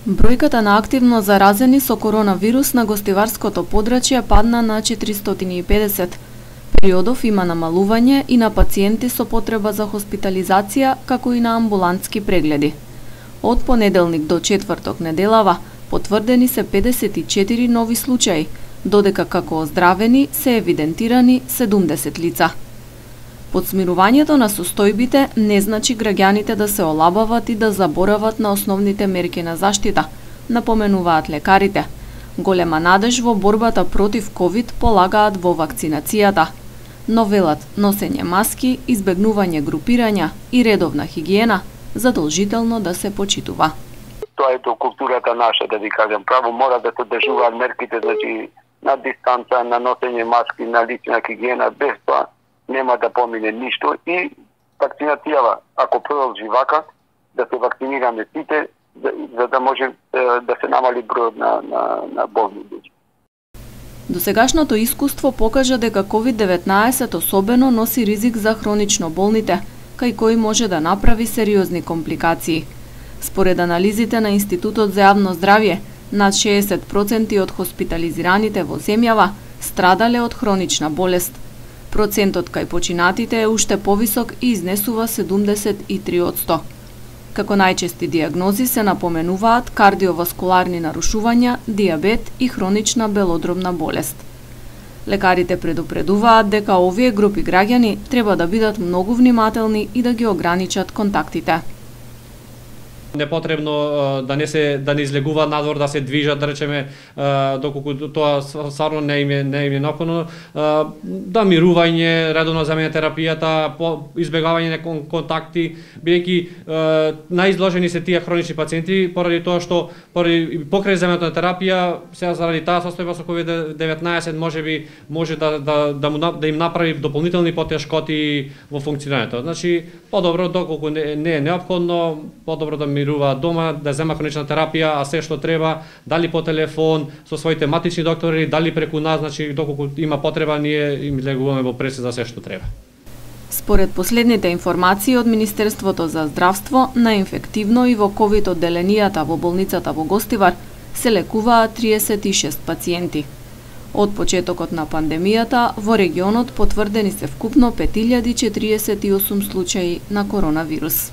Бројката на активно заразени со коронавирус на гостиварското подрачје падна на 450. Периодов има намалување и на пациенти со потреба за хоспитализација, како и на амбулантски прегледи. Од понеделник до четврток неделава потврдени се 54 нови случаи, додека како оздравени се евидентирани 70 лица. Подсмирувањето на состојбите не значи граѓаните да се олабават и да заборават на основните мерки на заштита, напоменуваат лекарите. Голема надеж во борбата против ковид полагаат во вакцинацијата, но велат носење маски, избегнување групирања и редовна хигиена задолжително да се почитува. Тоа е до културата наша, да ви кажам право, мора да се држуваат мерките, значи на дистанца, на носење маски, на лична хигиена, без тоа нема да помине ништо и вакцинацијава, ако продолжи вака, да се вакцинираме сите, за да може да се намали бројот на болни луѓе. Досегашното искуство покажа дека COVID-19 особено носи ризик за хронично болните, кај кои може да направи сериозни компликации. Според анализите на Институтот за јавно здравје, над 60% од хоспитализираните во земјава страдале од хронична болест. Процентот кај починатите е уште повисок и изнесува 73%. Како најчести диагнози се напоменуваат кардиоваскуларни нарушувања, диабет и хронична белодробна болест. Лекарите предупредуваат дека овие групи граѓани треба да бидат многу внимателни и да ги ограничат контактите. Непотребно да не излегуваат надвор, да се движат, да речеме, доколку тоа стварно не им е неопходно, да мирување, редовно земење терапијата, избегавање на контакти, бидејќи најизложени се тие хронични пациенти поради тоа што покрај земењето на терапија, сега заради таа состојба со COVID-19 може да им направи дополнителни потешкоти во функционирањето. Значи, подобро доколку не е неопходно, подобро да мируваат дома, да зема хронична терапија, а се што треба, дали по телефон со своите матични доктори, дали преку нас, значи доколку има потреба, ние им легуваме во преси за се што треба. Според последните информации од Министерството за здравство, на инфективно и во ковид одделенијата во болницата во Гостивар се лекуваат 36 пациенти. Од почетокот на пандемијата во регионот потврдени се вкупно 5048 случаи на коронавирус.